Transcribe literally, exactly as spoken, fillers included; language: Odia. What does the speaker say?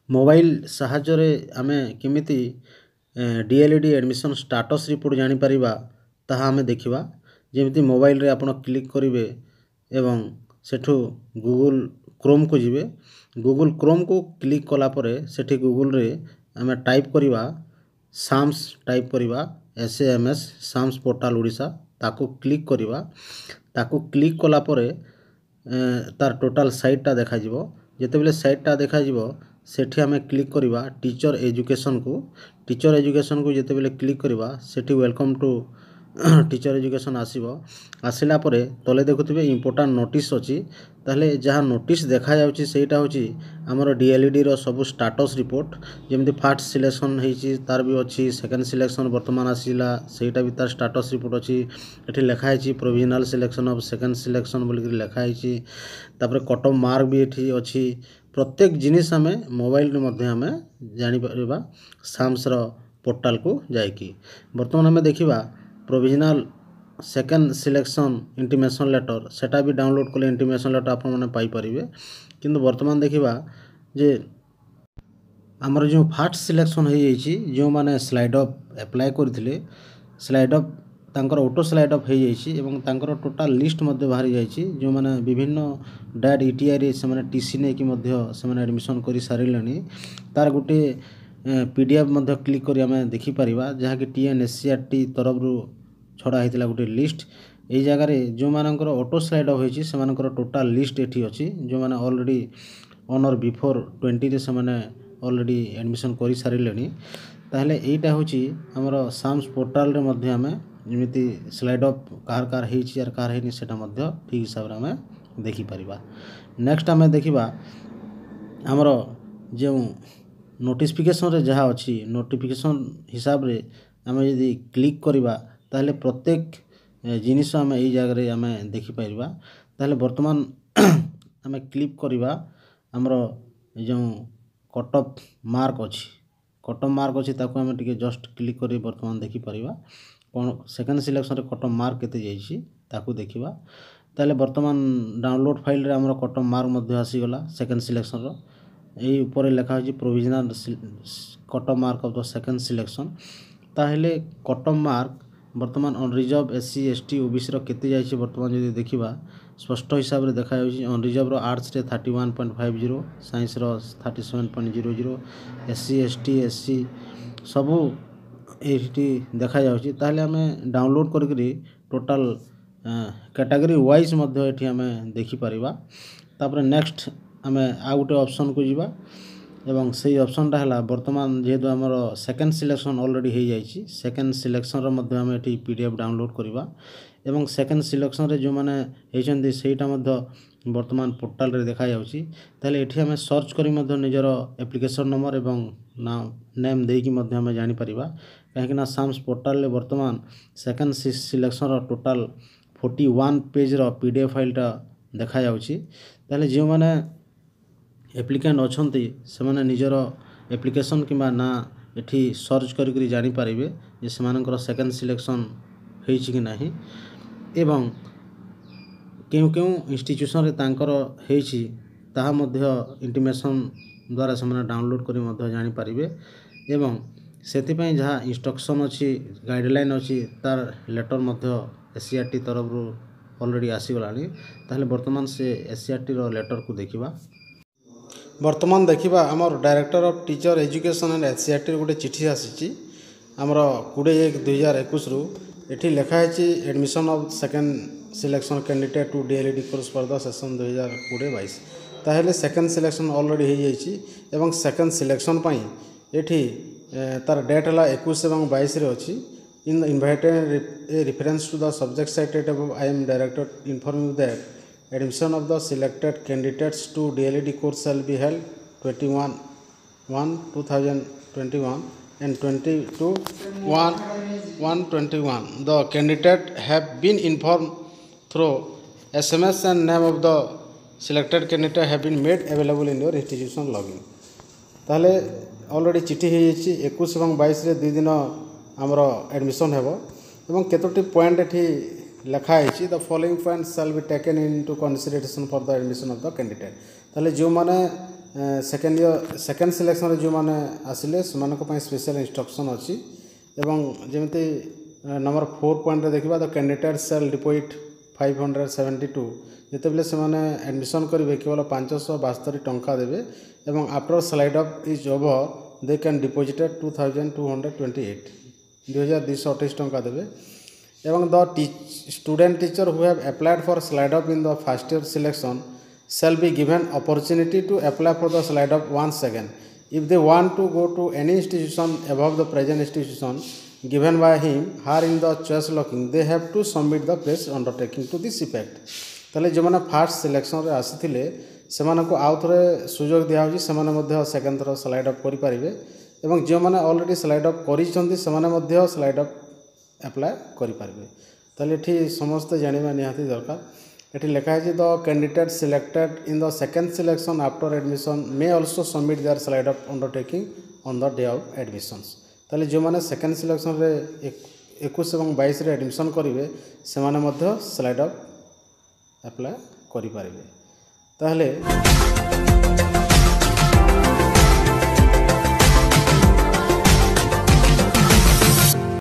ମୋବାଇଲ ସାହାଯ୍ୟରେ ଆମେ କେମିତି D L E D admission status report ଜାଣିପାରିବା ତାହା ଆମେ ଦେଖିବା ଯେମିତି ମୋବାଇଲରେ ଆପଣ କ୍ଲିକ୍ କରିବେ ଏବଂ ସେଠୁ ଗୁଗୁଲ୍ କ୍ରୋମ୍କୁ ଯିବେ ଗୁଗୁଲ୍ କ୍ରୋମ୍କୁ କ୍ଲିକ୍ କଲା ପରେ ସେଠି ଗୁଗୁଲ୍ରେ ଆମେ ଟାଇପ୍ କରିବା ସାମ୍ସ ଟାଇପ୍ କରିବା S A M S SAMS portal Odisha ତାକୁ କ୍ଲିକ୍ କରିବା ତାକୁ କ୍ଲିକ୍ କଲା ପରେ ତାର ଟୋଟାଲ୍ ସାଇଟ୍ଟା ଦେଖାଯିବ ଯେତେବେଳେ ସାଇଟ୍ଟା ଦେଖାଯିବ ସେଠି ଆମେ କ୍ଲିକ୍ କରିବା ଟିଚର୍ ଏଜୁକେସନ୍କୁ ଟିଚର୍ ଏଜୁକେସନ୍କୁ ଯେତେବେଳେ କ୍ଲିକ୍ କରିବା ସେଠି welcome to teacher education ଆସିବ ଆସିଲା ପରେ ତଲେ ଦେଖୁଥିବେ ଇମ୍ପୋର୍ଟାଣ୍ଟ ନୋଟିସ୍ ଅଛି ତାହେଲେ ଯାହା ନୋଟିସ୍ ଦେଖାଯାଉଛି ସେଇଟା ହେଉଛି ଆମର ଡି ଏଲ୍ ଇ ଡ଼ିର ସବୁ ଷ୍ଟାଟସ୍ ରିପୋର୍ଟ ଯେମିତି ଫାର୍ଷ୍ଟ ସିଲେକ୍ସନ୍ ହେଇଛି ତାର ବି ଅଛି ସେକେଣ୍ଡ ସିଲେକ୍ସନ୍ ବର୍ତ୍ତମାନ ଆସିଲା ସେଇଟା ବି ତାର ଷ୍ଟାଟସ୍ ରିପୋର୍ଟ ଅଛି ଏଠି ଲେଖା ହେଇଛି provisional selection of second selection ବୋଲିକିରି ଲେଖା ହେଇଛି ତାପରେ କଟ୍ ଅଫ୍ ମାର୍କ ବି ଏଠି ଅଛି ପ୍ରତ୍ୟେକ ଜିନିଷ ଆମେ ମୋବାଇଲରେ ମଧ୍ୟ ଆମେ ଜାଣିପାରିବା ସାମ୍ସର ପୋର୍ଟାଲକୁ ଯାଇକି ବର୍ତ୍ତମାନ ଆମେ ଦେଖିବା provisional second selection intimation letter ସେଟା ବି ଡାଉନଲୋଡ଼୍ କଲେ ଇଣ୍ଟିମେସନ୍ ଲେଟର୍ ଆପଣମାନେ ପାଇପାରିବେ କିନ୍ତୁ ବର୍ତ୍ତମାନ ଦେଖିବା ଯେ ଆମର ଯେଉଁ ଫାର୍ଷ୍ଟ ସିଲେକ୍ସନ୍ ହେଇଯାଇଛି ଯେଉଁମାନେ ସ୍ଲାଇଡ୍ ଅପ୍ ଆପ୍ଲାଏ କରିଥିଲେ ସ୍ଲାଇଡ୍ ଅପ୍ ତାଙ୍କର ଅଟୋ ସ୍ଲାଇଡ୍ ଅପ୍ ହେଇଯାଇଛି ଏବଂ ତାଙ୍କର ଟୋଟାଲ୍ ଲିଷ୍ଟ ମଧ୍ୟ ବାହାରି ଯାଇଛି ଯେଉଁମାନେ ବିଭିନ୍ନ ଡାଏଟ୍ ଇ ଟି ଆଇରେ ସେମାନେ ଟି ସି ନେଇକି ମଧ୍ୟ ସେମାନେ ଆଡ଼ମିସନ୍ କରିସାରିଲେଣି ତାର ଗୋଟିଏ ପି ଡ଼ି ଏଫ୍ ମଧ୍ୟ କ୍ଲିକ୍ କରି ଆମେ ଦେଖିପାରିବା ଯାହାକି T N S C R ଟି ତରଫରୁ ଛଡ଼ା ହେଇଥିଲା ଗୋଟିଏ ଲିଷ୍ଟ ଏଇ ଜାଗାରେ ଯେଉଁମାନଙ୍କର ଅଟୋ ସ୍ଲାଇଡ୍ ଅପ୍ ହେଇଛି ସେମାନଙ୍କର ଟୋଟାଲ୍ ଲିଷ୍ଟ ଏଠି ଅଛି ଯେଉଁମାନେ ଅଲରେଡ଼ି ଅନ୍ ଅର୍ ବିଫୋର୍ ଟ୍ୱେଣ୍ଟିରେ ସେମାନେ ଅଲରେଡ଼ି ଆଡ଼ମିସନ୍ କରିସାରିଲେଣି ତାହେଲେ ଏଇଟା ହେଉଛି ଆମର ସାମ୍ସ ପୋର୍ଟାଲରେ ମଧ୍ୟ ଆମେ ଯେମିତି ସ୍ଲାଇଡ୍ ଅପ୍ କାହାର କାହାର ହେଇଛି ଆର୍ କାହାର ହେଇନି ସେଇଟା ମଧ୍ୟ ଠିକ୍ ହିସାବରେ ଆମେ ଦେଖିପାରିବା ନେକ୍ସଟ ଆମେ ଦେଖିବା ଆମର ଯେଉଁ ନୋଟିଫିକେସନ୍ରେ ଯାହା ଅଛି ନୋଟିଫିକେସନ୍ ହିସାବରେ ଆମେ ଯଦି କ୍ଲିକ୍ କରିବା ତାହେଲେ ପ୍ରତ୍ୟେକ ଜିନିଷ ଆମେ ଏଇ ଜାଗାରେ ଆମେ ଦେଖିପାରିବା ତାହେଲେ ବର୍ତ୍ତମାନ ଆମେ କ୍ଲିକ୍ କରିବା ଆମର ଏ ଯେଉଁ କଟ୍ ଅଫ୍ ମାର୍କ ଅଛି କଟ୍ ଅଫ୍ ମାର୍କ ଅଛି ତାକୁ ଆମେ ଟିକେ ଜଷ୍ଟ କ୍ଲିକ୍ କରି ବର୍ତ୍ତମାନ ଦେଖିପାରିବା କ'ଣ ସେକେଣ୍ଡ ସିଲେକ୍ସନ୍ରେ କଟ୍ ଅଫ୍ ମାର୍କ କେତେ ଯାଇଛି ତାକୁ ଦେଖିବା ତାହେଲେ ବର୍ତ୍ତମାନ ଡାଉନଲୋଡ଼୍ ଫାଇଲ୍ରେ ଆମର କଟ୍ ଅଫ୍ ମାର୍କ ମଧ୍ୟ ଆସିଗଲା ସେକେଣ୍ଡ ସିଲେକ୍ସନ୍ର ଏଇ ଉପରେ ଲେଖା ହେଇଛି provisional cut off mark of the second selection ତାହେଲେ କଟ୍ ଅଫ୍ ମାର୍କ ବର୍ତ୍ତମାନ unreserved S C S T O B ସିର କେତେ ଯାଇଛି ବର୍ତ୍ତମାନ ଯଦି ଦେଖିବା ସ୍ପଷ୍ଟ ହିସାବରେ ଦେଖାଯାଉଛି ଅନରିଜର୍ଭର ଆର୍ଟ୍ସରେ thirty one point five zero ସାଇନ୍ସର thirty seven point zero zero S C S T S C ସବୁ ଏଇଠି ଦେଖାଯାଉଛି ତାହେଲେ ଆମେ ଡାଉନଲୋଡ଼୍ କରିକିରି ଟୋଟାଲ୍ କ୍ୟାଟାଗୋରୀ ୱାଇଜ୍ ମଧ୍ୟ ଏଠି ଆମେ ଦେଖିପାରିବା ତାପରେ ନେକ୍ସଟ ଆମେ ଆଉ ଗୋଟେ ଅପସନ୍କୁ ଯିବା ଏବଂ ସେଇ ଅପସନ୍ଟା ହେଲା ବର୍ତ୍ତମାନ ଯେହେତୁ ଆମର ସେକେଣ୍ଡ ସିଲେକ୍ସନ୍ ଅଲରେଡ଼ି ହେଇଯାଇଛି ସେକେଣ୍ଡ ସିଲେକ୍ସନ୍ର ମଧ୍ୟ ଆମେ ଏଠି ପି ଡ଼ି ଏଫ୍ ଡାଉନଲୋଡ଼୍ କରିବା ଏବଂ ସେକେଣ୍ଡ ସିଲେକ୍ସନ୍ରେ ଯେଉଁମାନେ ହେଇଛନ୍ତି ସେଇଟା ମଧ୍ୟ ବର୍ତ୍ତମାନ ପୋର୍ଟାଲରେ ଦେଖାଯାଉଛି ତାହେଲେ ଏଠି ଆମେ ସର୍ଚ୍ଚ କରି ମଧ୍ୟ ନିଜର ଆପ୍ଲିକେସନ୍ ନମ୍ବର ଏବଂ ନାଁ ନେମ୍ ଦେଇକି ମଧ୍ୟ ଆମେ ଜାଣିପାରିବା କାହିଁକିନା ସାମ୍ସ ପୋର୍ଟାଲରେ ବର୍ତ୍ତମାନ ସେକେଣ୍ଡ ସିଲେକ୍ସନ୍ର ଟୋଟାଲ୍ ଫୋର୍ଟି ୱାନ୍ ପେଜ୍ର ପି ଡ଼ି ଏଫ୍ ଫାଇଲ୍ଟା ଦେଖାଯାଉଛି ତାହେଲେ ଯେଉଁମାନେ ଆପ୍ଲିକାଣ୍ଟ ଅଛନ୍ତି ସେମାନେ ନିଜର ଆପ୍ଲିକେସନ୍ କିମ୍ବା ନାଁ ଏଠି ସର୍ଚ୍ଚ କରିକରି ଜାଣିପାରିବେ ଯେ ସେମାନଙ୍କର ସେକେଣ୍ଡ ସିଲେକ୍ସନ୍ ହେଇଛି କି ନାହିଁ ଏବଂ କେଉଁ କେଉଁ ଇନଷ୍ଟିଚ୍ୟୁସନ୍ରେ ତାଙ୍କର ହେଇଛି ତାହା ମଧ୍ୟ ଇଣ୍ଟିମେସନ୍ ଦ୍ୱାରା ସେମାନେ ଡାଉନଲୋଡ଼୍ କରି ମଧ୍ୟ ଜାଣିପାରିବେ ଏବଂ ସେଥିପାଇଁ ଯାହା ଇନଷ୍ଟ୍ରକ୍ସନ୍ ଅଛି ଗାଇଡ଼ଲାଇନ୍ ଅଛି ତାର ଲେଟର୍ ମଧ୍ୟ ଏସ୍ ସି ଆର୍ ଟି ତରଫରୁ ଅଲରେଡ଼ି ଆସିଗଲାଣି ତାହେଲେ ବର୍ତ୍ତମାନ ସେ ଏସ୍ ସି ଆର୍ ଟିର ଲେଟର୍କୁ ଦେଖିବା ବର୍ତ୍ତମାନ ଦେଖିବା ଆମର Director of Teacher Education and S C R ଟିର ଗୋଟେ ଚିଠି ଆସିଛି ଆମର କୋଡ଼ିଏ ଏକ ଦୁଇହଜାର ଏକୋଇଶରୁ ଏଠି ଲେଖା ହେଇଛି admission of second selection candidate to D El Ed course for the session ଦୁଇହଜାର କୋଡ଼ିଏ ବାଇଶ ତାହେଲେ ସେକେଣ୍ଡ ସିଲେକ୍ସନ୍ ଅଲରେଡ଼ି ହେଇଯାଇଛି ଏବଂ ସେକେଣ୍ଡ ସିଲେକ୍ସନ୍ ପାଇଁ ଏଠି ତାର ଡେଟ୍ ହେଲା ଏକୋଇଶ ଏବଂ ବାଇଶରେ ଅଛି in invited a reference to the subject cited above I am director inform you that admission of the selected candidates to D.El.Ed course shall be held twenty one one two thousand twenty one and twenty two one one twenty one the candidate have been informed through SMS and name of the selected candidate have been made available in your institution login ତାହେଲେ ଅଲରେଡ଼ି ଚିଠି ହେଇଯାଇଛି ଏକୋଇଶ ଏବଂ ବାଇଶରେ ଦୁଇ ଦିନ ଆମର ଆଡ଼ମିସନ୍ ହେବ ଏବଂ କେତୋଟି ପଏଣ୍ଟ ଏଠି ଲେଖା ହେଇଛି the following point shall be taken into consideration for the admission of the candidate ତାହେଲେ ଯେଉଁମାନେ ସେକେଣ୍ଡ ଇୟର୍ ସେକେଣ୍ଡ ସିଲେକ୍ସନ୍ରେ ଯେଉଁମାନେ ଆସିଲେ ସେମାନଙ୍କ ପାଇଁ ସ୍ପେଶାଲ୍ ଇନଷ୍ଟ୍ରକ୍ସନ୍ ଅଛି ଏବଂ ଯେମିତି ନମ୍ବର ଫୋର୍ ପଏଣ୍ଟରେ ଦେଖିବା the candidate shall deposit five hundred seventy two ଯେତେବେଳେ ସେମାନେ ଆଡ଼ମିସନ୍ କରିବେ କେବଳ ପାଞ୍ଚଶହ ବାସ୍ତରି ଟଙ୍କା ଦେବେ ଏବଂ after slide up is over they can deposited two thousand two hundred twenty eight ଦୁଇହଜାର ଦୁଇଶହ ଅଠେଇଶ ଟଙ୍କା ଦେବେ ଏବଂ the student teacher who have applied for slide up in the first year selection shall be given opportunity to apply for the slide up once again if they want to go to any institution above the present institution given by him her in the choice locking they have to submit the fresh undertaking to this effect ତାହେଲେ ଯେଉଁମାନେ ଫାର୍ଷ୍ଟ ସିଲେକ୍ସନ୍ରେ ଆସିଥିଲେ ସେମାନଙ୍କୁ ଆଉ ଥରେ ସୁଯୋଗ ଦିଆହେଉଛି ସେମାନେ ମଧ୍ୟ ସେକେଣ୍ଡ ଥର ସ୍ଲାଇଡ୍ ଅପ୍ କରିପାରିବେ ଏବଂ ଯେଉଁମାନେ ଅଲରେଡ଼ି ସ୍ଲାଇଡ୍ ଅପ୍ କରିଛନ୍ତି ସେମାନେ ମଧ୍ୟ ସ୍ଲାଇଡ୍ ଅପ୍ ଆପ୍ଲାଏ କରିପାରିବେ ତାହେଲେ ଏଠି ସମସ୍ତେ ଜାଣିବା ନିହାତି ଦରକାର ଏଠି ଲେଖା ହେଇଛି the candidate selected in the second selection after admission may also submit their slide up undertaking on the day of admissions ତାହେଲେ ଯେଉଁମାନେ ସେକେଣ୍ଡ ସିଲେକ୍ସନ୍ରେ ଏକୋଇଶ ଏବଂ ବାଇଶରେ ଆଡ଼ମିସନ୍ କରିବେ ସେମାନେ ମଧ୍ୟ ସ୍ଲାଇଡ୍ ଅପ୍ ଆପ୍ଲାଏ କରିପାରିବେ ତାହେଲେ